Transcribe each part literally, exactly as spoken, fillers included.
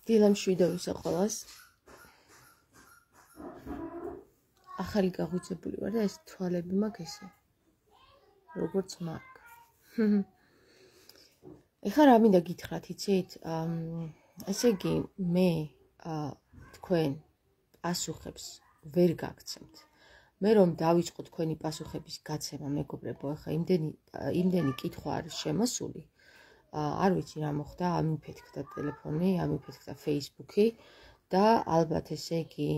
დილამ შვიდობისა ყველას. ახალი გაღვიძებული ვარ და ეს თვალები მაქვს ესე. როგორც მაქვს. ეხლა რა მინდა გითხრათ, იცით? ესე იგი, მე თქვენ პასუხებს ვერ გაგცემთ. მე რომ დავიწყო თქვენი პასუხების გაცემა, მეგობრებო, ეხლა იმდენი იმდენი კითხვა არის შემოსული. არ ვიცი რა მოხდა, ამიფეთქდა ტელეფონი, ამიფეთქდა Facebook-ი და ალბათ ესე იგი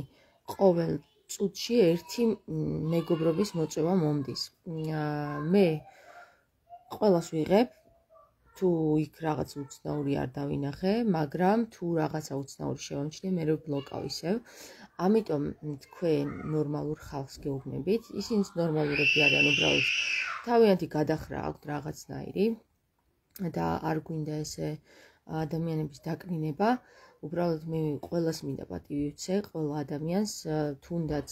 ყოველ წუთში ერთი მეგობრობის მოწვევა მომდის. მე ყველას ვიღებ, თუ იქ რაღაც უცნაური არ დავინახე, მაგრამ თუ რაღაცა უცნაური შევამჩნიე, მე ვბლოკავ ისევ. ამიტომ თქვენ ნორმალურ ხალხს გეუბნებით, ისინიც ნორმალურები არიან, უბრალოდ თავიანთი გადახრა აქვთ რაღაცნაირი და არ გვინდა ესე ადამიანების დაკნინება. უბრალოდ მე ყველას მინდა პატივი ვცე, ყველა ადამიანს თუნდაც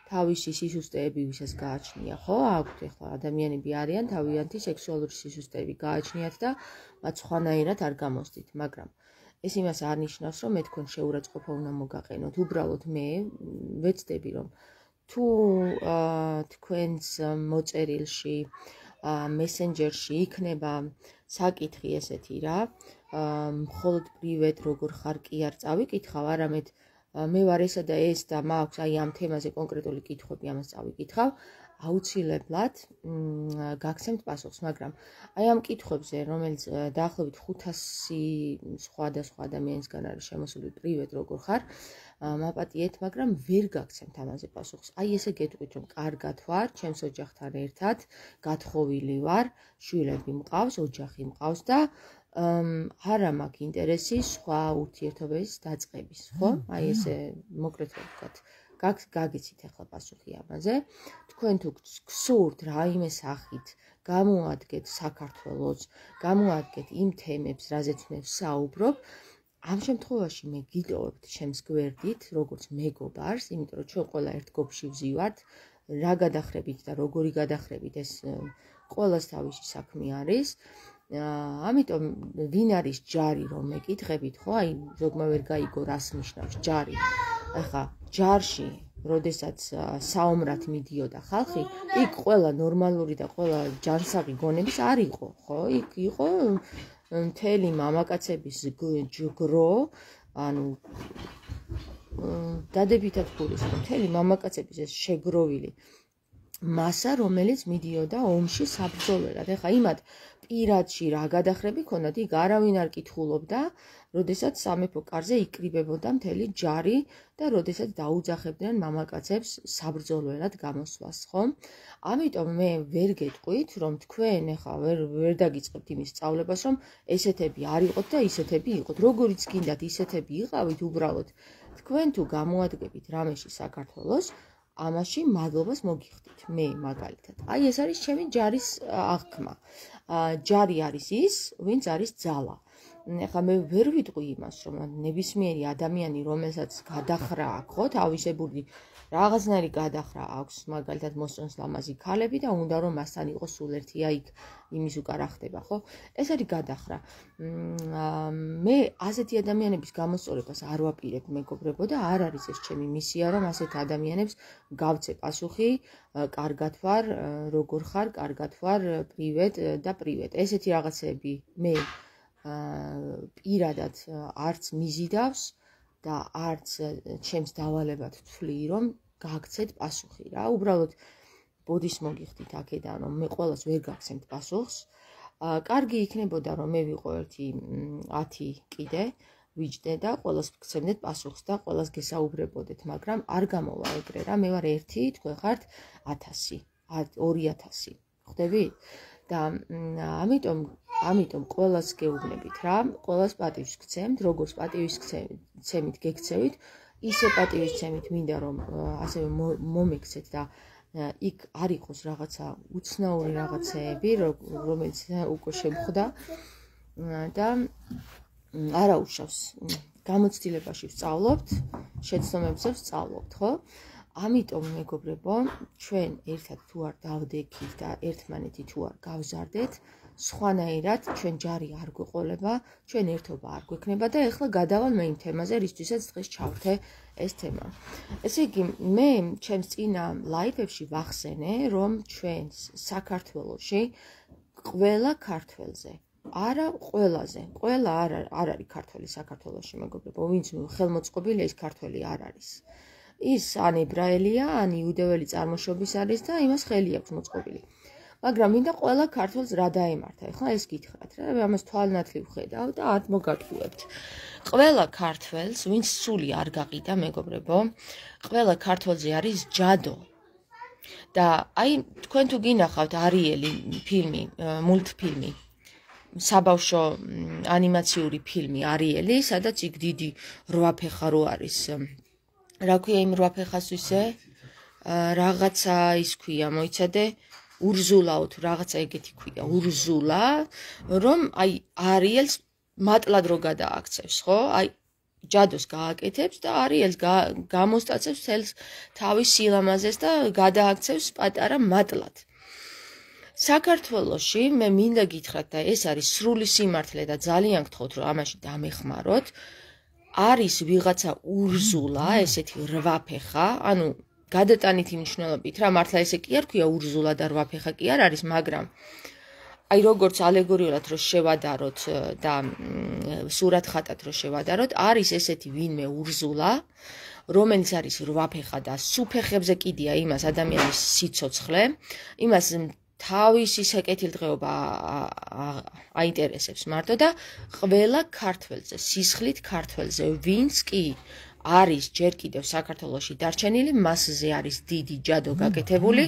თავისი სისუსტეები ვისაც გააჩნია, ხო? აქვთ ეხლა ადამიანები არიან, თავიანთი სექსუალური სისუსტეები გააჩნიათ და მათ სხვანაირად არ გამოსდით, მაგრამ ეს იმას არ ნიშნავს, რომ მე თქვენ შეურაცხყოფა უნდა მოგაყენოთ. უბრალოდ მე ვეცდები, რომ თუ თქვენს მოწერილში, მესენჯერში იქნება საკითხი ესეთი რა, მხოლოდ პრივეტ როგორ ხარ კი არ წავიკითხავ, არამედ მე ვარ ესა და ეს და მაქვს აი ამ თემაზე კონკრეტული კითხვები, ამას წავიკითხავ, აუცილებლად გაგცემთ პასუხს, მაგრამ აი ამ კითხვებზე, რომელიც დაახლოებით ხუთასი სხვადასხვა ადამიანისგან არის შემოსული პრივეტ როგორ ხარ, მაპატიეთ, მაგრამ ვერ გაგცემთ ამაზე პასუხს. აი ესე გეტყვით, რომ კარგად ვარ, ჩემს ოჯახთან ერთად, გათხოვილი ვარ, შვილები მყავს, ოჯახი მყავს და არა მაქვს ინტერესი სხვა ურთიერთობების დაწყების, ხო? აი ესე მოკლედ ვთქვათ. გაგიცით ახლა პასუხი ამაზე. თქვენ თუ გსურთ რაიმე სახით გამოადგეთ საქართველოს, გამოადგეთ იმ თემებს, რაზეც მე ვსაუბრობ, ამ შემთხვევაში მე გიტოვებთ ჩემს გვერდით, როგორც მეგობარს, იმიტომ რომ ჩვენ ყველა ერთ გოფში ვზივართ, რა გადახრებით და როგორი გადახრებით, ეს ყველას თავისი საქმე არის. ამიტომ ვინ არის ჯარი რომ მეკითხებით, ხო? აი ზოგმა ვერ გაიგო რას ნიშნავს ჯარი. ახლა ჯარში, როდესაც საომრად მიდიოდა ხალხი, იქ ყველა ნორმალური და ყველა ჯანსაღი გონების არ იყო, ხო? იქ იყო მთელი მამაკაცების ჯგრო, ანუ დადებითად გულისხმობ, მთელი მამაკაცების ეს შეგროვილი მასა, რომელიც მიდიოდა ომში საბრძოლველად. ეხლა იმათ პირადში რა გადახრები ქონდათ, იქ არავინ არ კითხულობდა, როდესაც სამეფო კარზე იკრიბებოდა მთელი ჯარი და როდესაც დაუძახებდნენ მამაკაცებს საბრძოლველად გამოსვლას, ხო? ამიტომ მე ვერ გეტყვით, რომ თქვენ ეხლა ვერ ვერ დაგიწყებთ იმის სწავლებას, რომ ესეთები არ იყოთ და ისეთები იყოთ. როგორიც გინდათ ისეთები იყავით, უბრალოდ თქვენ თუ გამოადგებით რამეში საქართველოს, ამაში მადლობას მოგიხდით, მე მაგალითად. აი ეს არის ჩემი ჯარის აღქმა. ჯარი არის ის, ვინც არის ძალა. ეხლა მე ვერ ვიტყვი იმას, რომ ნებისმიერი ადამიანი, რომელსაც გადახრა აქვს, ხო, თავისებური რაღაცნაირი გადახრა აქვს, მაგალითად მოსწონს ლამაზი ქალები და უნდა რომ მასთან იყოს სულ ერთი, აი იმის უკან რა ხდება, ხო? ეს არის გადახრა. მე ასეთი ადამიანების გამოსწორებას არ ვაპირებ, მეგობრებო, და არ არის ეს ჩემი მისია, რომ ასეთ ადამიანებს გავცე პასუხი, კარგად ვარ, როგორ ხარ, კარგად ვარ, პრივეტ და პრივეტ. ესეთი რაღაცები მე პირადად არც მიზიდავს და არც ჩემს დავალებად ვთვლი, რომ გაგცეთ პასუხი რა. უბრალოდ ბოდის მოგიხდით აქედან, რომ მე ყველას ვერ გაგცემთ პასუხს. კარგი იქნებოდა, რომ მე ვიყო ერთი ათი კიდე ვიჯდე და ყველას გცემდეთ პასუხს და ყველას გესაუბრებოდეთ, მაგრამ არ გამოვა ეგრე რა. მე ვარ ერთი, თქვენ ხართ ათასი, ორი ათასი. ხვდებით? და ამიტომ ამიტომ ყველას გეუბნებით რა, ყველას პატივს გცემთ, როგორც პატივის გცემით გექცევით, ისე პატივის გცემით მინდა რომ ასევე მომექცეთ და იქ არ იყოს რაღაცა უცნაური რაღაცეები, რომელიც უკვე შემხვდა და არ აუშავს. გამოცდილებაში ვსწავლობთ, შეცდომებზე ვსწავლობთ, ხო? ამიტომ მეგობრებო, ჩვენ ერთად თუ არ დავდექით და ერთმანეთი თუ არ გავზარდეთ, სხვანაირად ჩვენ ჯარი არ გვეყოლება, ჩვენ ერთობა არ გვექნება და ეხლა გადავალ მე იმ თემაზე, რისთვისაც დღეს ჩავთე ეს თემა. ესე იგი, მე ჩემს წინა ლაივებში ვახსენე, რომ ჩვენს საქართველოში ყველა ქართველზე, არა ყველაზე, ყველა არ არ არის ქართველი საქართველოში, მეგობრებო, ვინც ხელმოწყობილია ის ქართველი არ არის. ის ან ებრაელია, ან იუდეველი წარმოშობის არის და იმას ხელი აქვს მოწყობილი. მაგრამ მინდა ყველა ქართველს რა დაემართა. ეხლა ეს გითხრათ რა, ამას თვალნათლივ ხედავ და არ მოგატყუებთ. ყველა ქართველს, ვინც სული არ გაყიდა, მეგობრებო, ყველა ქართველზე არის ჯადო. და აი თქვენ თუ გინახავთ არიელი ფილმი, მულტფილმი, საბავშვო ანიმაციური ფილმი არიელი, სადაც იქ დიდი რვაფეხა რო არის. რა ქვია იმ რვაფეხას ისე? რაღაცა ის ქვია, მოიცადე, ურზულაო თუ რაღაცა ეგეთი ქვია, ურზულა, რომ აი არიელს მატლად რო გადააქცევს, ხო? აი ჯადოს გააკეთებს და არიელს გამოსტაცებს თელს თავის სილამაზეს და გადააქცევს პატარა მატლად. საქართველოში მე მინდა გითხრათ და ეს არის სრული სიმართლე და ძალიან გთხოვთ რომ ამაში დამეხმაროთ. არის ვიღაცა ურზულა, ესეთი რვაფეხა, ანუ გადატანითი მნიშვნელობით რა, მართლა ესე კი არ ქვია ურზულა და რვაფეხა კი არ არის, მაგრამ აი როგორც ალეგორიულად რო შევადაროთ და სურათხატად რო შევადაროთ, არის ესეთი ვინმე ურზულა, რომელიც არის რვაფეხა და სუფეხებზე კიდია იმას ადამიანის სიცოცხლე, იმას თავისი საკეთილდღეობა აინტერესებს მარტო და ყველა ქართველზე, სისხლით ქართველზე, ვინც კი არის ჯერ კიდევ საქართველოში დარჩენილი, მასზე არის დიდი ჯადო გაკეთებული,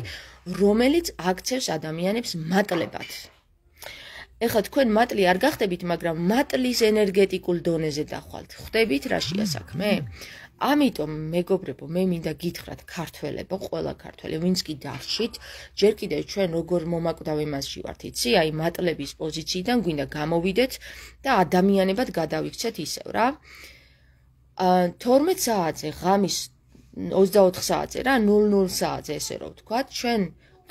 რომელიც აქცევს ადამიანებს მატლებად. ეხლა თქვენ მატლი არ გახდებით, მაგრამ მატლის ენერგეტიკულ დონეზე დახვალთ. ხვდებით რაშია საქმე? ამიტომ მეგობრებო, მე მინდა გითხრათ ქართველებო, ყველა ქართველი, ვინც კი დარჩით, ჯერ კიდევ ჩვენ როგორ მომაკვდავ იმასში ვართ, იცი, აი მატლების პოზიციიდან გვინდა გამოვიდეთ და ადამიანებად გადავიქცეთ ისევ რა. თორმეტ საათზე, ღამის ოცდაოთხ საათზე რა, ნულ ნულ საათზე ესე რომ ვთქვათ, ჩვენ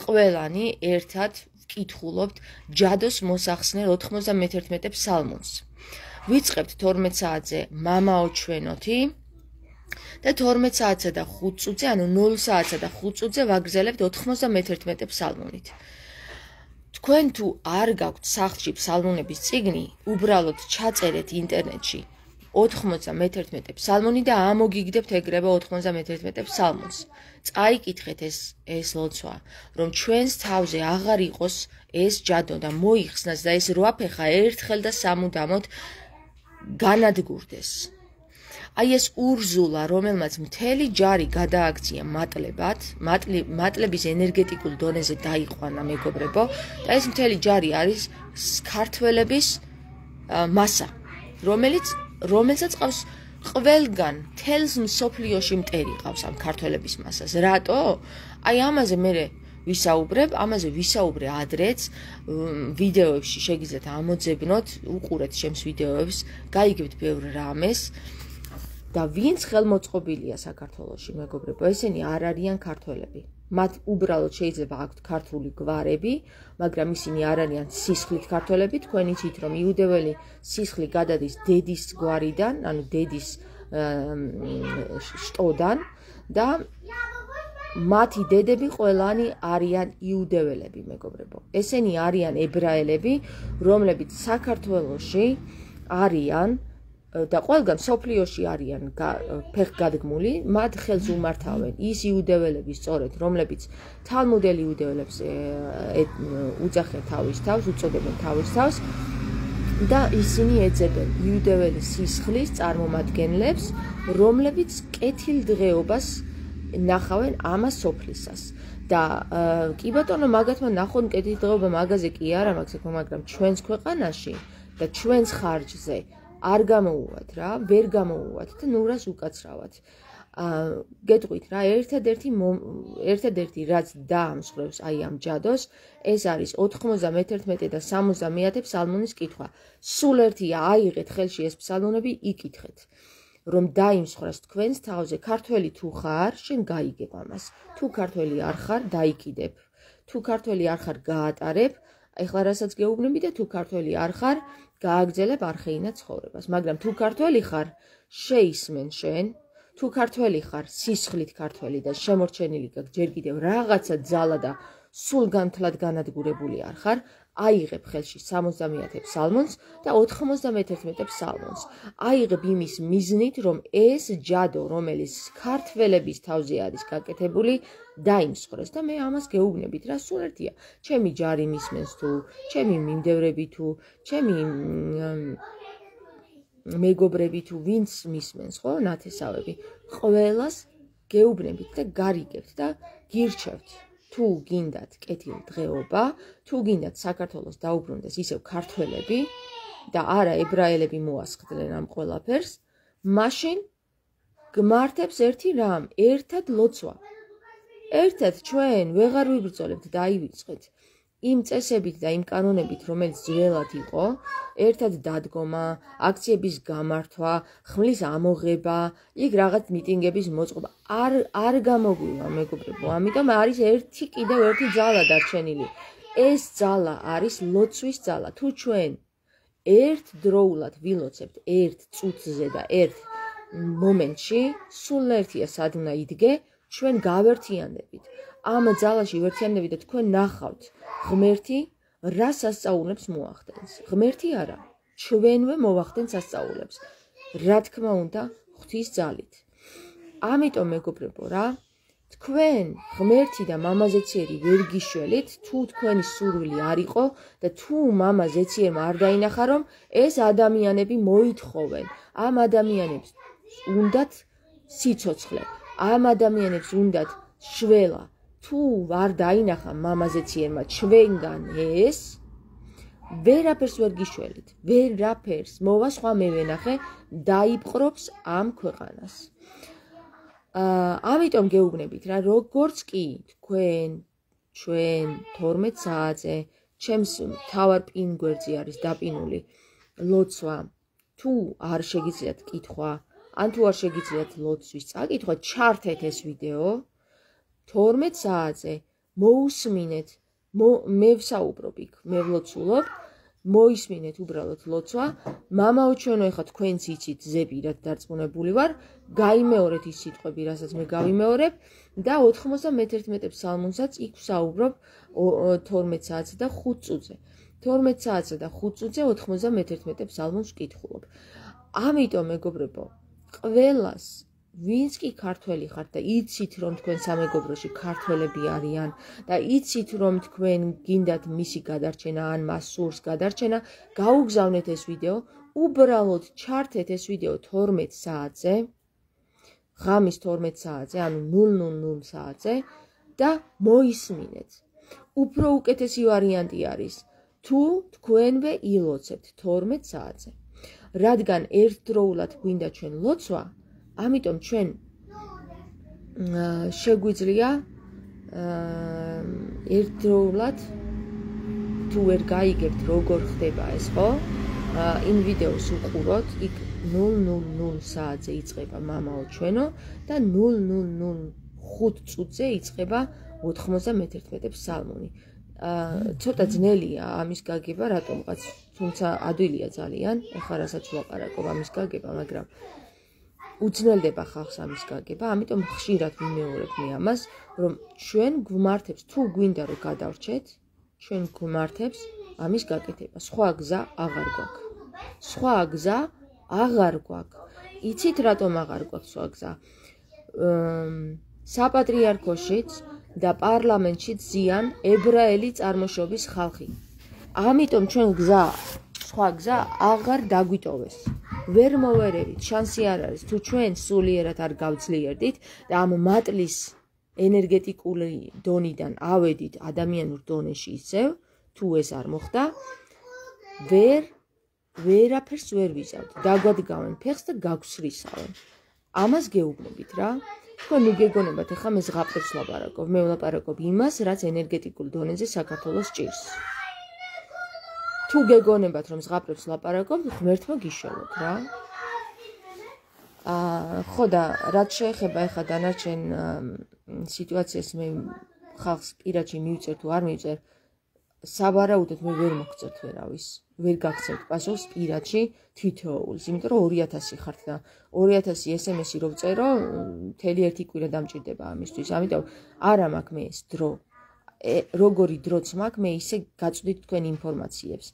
ყველანი ერთად ვკითხულობთ ჯადოს მოსახსნელ ოთხმოცდამეთერთმეტე ფსალმუნს. ვიწყებთ თორმეტ საათზე მამაო ჩვენოთი და თორმეტ საათსა და ხუთ წუთზე, ანუ ნულ საათსა და ხუთ წუთზე ვაგრძელებთ ოთხმოცდამეთერთმეტე ფსალმუნით. თქვენ თუ არ გაქვთ სახლში ფსალმუნების წიგნი, უბრალოდ ჩაწერეთ ინტერნეტში ოთხმოცდამეთერთმეტე ფსალმუნი და ამოგიგდებთ ეგრევე ოთხმოცდამეთერთმეტე ფსალმუნს. წაიკითხეთ ეს ეს ლოცვა, რომ ჩვენს თავზე აღარ იყოს ეს ჯადო და მოიხსნას და ეს რვაფეხა ერთხელ და სამუდამოდ განადგურდეს. აი ეს ურზულა, რომელმაც მთელი ჯარი გადააქცია მატლებად, მატლების ენერგეტიკულ დონეზე დაიყვანა, მეგობრებო, და ეს მთელი ჯარი არის ქართველების მასა, რომელიც რომელსაც ყავს ყველგან, თელს მსოფლიოში მტერი ყავს ამ ქართველების მასას. რატო? აი ამაზე მე ვისაუბრებ, ამაზე ვისაუბრე ადრეც, ვიდეოებში შეგიძლიათ ამოძებნოთ, უყურეთ ჩემს ვიდეოებს, გაიგებთ ბევრ რამეს. და ვინც ხელმოწყობილია საქართველოში, მეგობრებო, ესენი არ არიან ქართველები. მათ უბრალოდ შეიძლება აქვთ ქართული გვარები, მაგრამ ისინი არ არიან სისხლით ქართველები. თქვენ იცით, რომ იუდეველი სისხლი გადადის დედის გვარიდან, ანუ დედის შტოდან და მათი დედები ყველანი არიან იუდეველები, მეგობრებო. ესენი არიან ებრაელები, რომლებიც საქართველოში არიან და ყველგან სოფლიოში არიან ფეხგადგმული, მათ ხელს უმართავენ ის იუდეველები სწორედ, რომლებიც თალმუდელი იუდეველებს უძახიან თავის თავს, უწოდებენ თავის თავს და ისინი ეძებენ იუდეველი სისხლის წარმომადგენლებს, რომლებიც კეთილდღეობას ნახავენ ამას სოფლისას. და კი ბატონო, მაგათმა ნახონ კეთილდღეობა მაგაზე კი არა მაქვს საქმე, მაგრამ ჩვენს ქვეყანაში და ჩვენს ხარჯზე არ გამოუვათ რა, ვერ გამოუვათ და ნურას უკაცრავად. გეტყვით რა, ერთადერთი ერთადერთი რაც დაამსხვრევს აი ამ ჯადოს, ეს არის ოთხმოცდამეთერთმეტე და სამოცდამეათე ფსალმუნის კითხვა. სულ ერთია, აიღეთ ხელში ეს ფსალმუნები, იკითხეთ. რომ დაიმსხვრას თქვენს თავზე, ქართველი თუ ხარ, შენ გაიგებ ამას. თუ ქართველი არ ხარ, დაიკიდებ. თუ ქართველი არ ხარ, გაატარებ ეხლა რასაც გეუბნები და თუ ქართველი არ ხარ, გააგრძელებ არხეინად ცხოვრებას, მაგრამ თუ ქართველი ხარ, შეისმენ შენ, თუ ქართველი ხარ, სისხლით ქართველი და შემორჩენილი გაქვს ჯერ კიდევ რაღაცა ძალა და სულგანთლად განადგურებული არ ხარ, აიღებ ხელში სამოცდამეათე ფსალმონს და ოთხმოცდამეთერთმეტე ფსალმონს. აიღებ იმის მიზნით, რომ ეს ჯადო, რომელიც ქართველების თავზე არის გაკეთებული, დაიმსხვრეს და მე ამას გეუბნებით რა, სულ ერთია. ჩემი ჯარი მისმენს თუ, ჩემი მიმდევრები თუ, ჩემი მეგობრები თუ, ვინც მისმენს, ხო, ნათესავები, ყველას გეუბნებით და გარიგებთ და გირჩევთ. თუ გინდათ კეთილდღეობა, თუ გინდათ საქართველოს დაუბრუნდეს ისევ ქართველები და არა ებრაელები მოასხდნენ ამ ყველაფერს, მაშინ გმართებს ერთი რამ, ერთად ლოცვა. ერთად ჩვენ ვეღარ ვიბრძოლებთ და აივიწყეთ იმ წესებით და იმ კანონებით, რომელიც ძველად იყო, ერთად დადგომა, აქციების გამართვა, ხმლის ამოღება, იქ რაღაც მიტინგების მოწყობა არ არ გამოგვივა, მეგობრებო. ამიტომ არის ერთი კიდევ ერთი ძალა დარჩენილი. ეს ძალა არის ლოცვის ძალა. თუ ჩვენ ერთდროულად ვილოცებთ ერთ წუთზე და ერთ მომენტში, სულ ერთია სად უნდა იდგე, ჩვენ გავერთიანდებით. ამ ძალაში ვერთიანდებით და თქვენ ნახავთ ღმერთი რა სასწაულებს მოახდენს. ღმერთი არა, ჩვენვე მოვახდენ სასწაულებს. რა თქმა უნდა, ღვთის ძალით. ამიტომ მეგობრებო რა, თქვენ ღმერთი და მამა ზეციერი ვერ გიშველით, თუ თქვენი სურვილი არ იყო და თუ მამა ზეციერმა არ დაინახა, რომ ეს ადამიანები მოითხოვენ. ამ ადამიანებს უნდათ სიცოცხლე, ამ ადამიანებს უნდათ შველა. თუ არ დაინახა მამა ზეციერმა ჩვენგან ეს, ვერაფერს ვერ გიშველით, ვერაფერს. მოვა სხვა მე ვენახე, დაიპყრობს ამ ქვეყანას. ამიტომ გეუბნებით რა, როგორც კი თქვენ, ჩვენ თორმეტ საათზე, ჩემს მთავარ პინგვერდზე არის დაპინული ლოცვა. თუ არ შეგიძლიათ კითხვა, ან თუ არ შეგიძლიათ ლოცვის წაკითხვა, ჩართეთ ეს ვიდეო. თორმეტ საათზე მოусმინეთ, მე ვსაუბრობ იქ, მე ვლოცულობ, მოისმინეთ უბრალოდ ლოცვა. მამაო ჩვენო, ეხლა თქვენც იცით ზეპირად დარწმუნებული ვარ, გაიმეორეთ ის სიტყვები, რასაც მე გავიმეორებ და ოთხმოცდამეთერთმეტე ფსალმონსაც იქ ვსაუბრობ თორმეტ საათზე და ხუთ წუთზე. თორმეტ საათზე და ხუთ წუთზე ოთხმოცდამეთერთმეტე ფსალმონს ვკითხულობ. ამიტომ მეგობრებო, ყველას ვინც კი ქართველი ხართ და იცით რომ თქვენ სამეგობროში ქართველები არიან და იცით რომ თქვენ გინდათ მისი გადარჩენა ან მას სურს გადარჩენა, გაუგზავნეთ ეს ვიდეო, უბრალოდ ჩართეთ ეს ვიდეო თორმეტ საათზე, ღამის თორმეტ საათზე, ანუ ნულ ნულ ნულ საათზე და მოისმინეთ. უფრო უკეთესი ვარიანტი არის, თუ თქვენვე ილოცებთ თორმეტ საათზე. რადგან ერთდროულად გვინდა ჩვენ ლოცვა, ამიტომ ჩვენ შეგვიძლია ერთდროულად თუ ვერ გაიგებთ როგორ ხდება ეს, ხო? იმ ვიდეოს უყუროთ, იქ ნულ ნულ ნულ საათზე იწყება მამაო ჩვენო და ნულ ნულ ნულ ხუთ წუთზე იწყება ოთხმოცდამეთერთმეტე ფსალმონი. ცოტა ძნელია ამის გაგება, რატომღაც, თუმცა ადვილია ძალიან, ეხლა რასაც ვლაპარაკობ ამის გაგება, მაგრამ უძნელდება ხალხს ამის გაგება, ამიტომ ხშირად ვიმეორებ მე ამას, რომ ჩვენ გვმართებს, თუ გვინდა რომ გადავრჩეთ, ჩვენ გვმართებს ამის გაკეთება. სხვა გზა აღარ გვაქვს. სხვა გზა აღარ გვაქვს. იცით რატომ აღარ გვაქვს სხვა გზა? საპატრიარქოშიც და პარლამენტშიც ზიან ებრაელი წარმოშობის ხალხი. ამიტომ ჩვენ გზა, სხვა გზა აღარ დაგვიტოვეს. ვერ მოვერევით, შანსი არ არის, თუ ჩვენ სულიერად არ გავძლიერდით და ამ მატლის ენერგეტიკული დონიდან ავედით ადამიანურ დონეში ისევ, თუ ეს არ მოხდა, ვერ ვერაფერს ვერ ვიზავთ. დაგვადგავენ ფეხს და გაგვსრისავენ. ამას გეუბნებით რა. თქვენ ნუ გეგონებათ, ეხლა მე ზღაპრებს ვლაპარაკობ, მე ვლაპარაკობ იმას, რაც ენერგეტიკულ დონეზე საქართველოს ჭირს. თუ გეგონებათ, რომ ზღაპრებს ვლაპარაკობ, ღმერთმა გიშველოთ რა. ხო და რაც შეეხება ეხლა დანარჩენ სიტუაციას, მე ხალხს პირადში მივწერ თუ არ მივწერ, საბარაუდოდ მე ვერ მოგწევთ ვერავის, ვერ გაგცემთ პასუხს პირადში თითოეულს, იმიტომ რომ ორი ათასი ხართ და ორი ათასი ეს ემ ესი რო ვწერო, მთელი ერთი კვირა დამჭირდება ამისთვის. ამიტომ არა მაქვს მე ეს დრო. როგორი დროც მაქვს, მე ისე გაწვდით თქვენ ინფორმაციებს.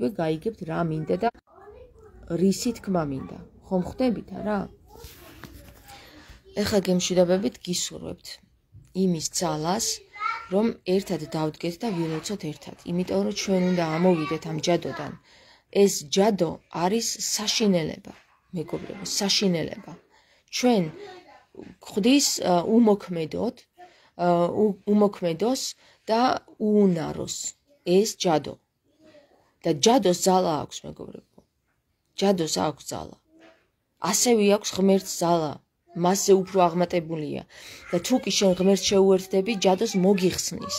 მე გაიგებთ რა მინდა და რისი თქმა მინდა. ხომ ხვდებით არა? ეხლა გემშვიდობებით გისურვებთ იმის ძალას, რომ ერთად დავდგეთ და ვილოცოთ ერთად. იმიტომ რომ ჩვენ უნდა ამოვიდეთ ამ ჯადოდან. ეს ჯადო არის საშინელება, მეგობრებო, საშინელება. ჩვენ ხვდის უმოქმედოდ, უმოქმედოს და უუნაროს ეს ჯადო. და ჯადოს ძალა აქვს, მეგობრებო. ჯადოს აქვს ძალა. ასევე აქვს ღმერთს ძალა. მასზე უფრო აღმატებულია და თუ კი შენ ღმერთს შეუერთდები, ჯადოს მოგიხსნის.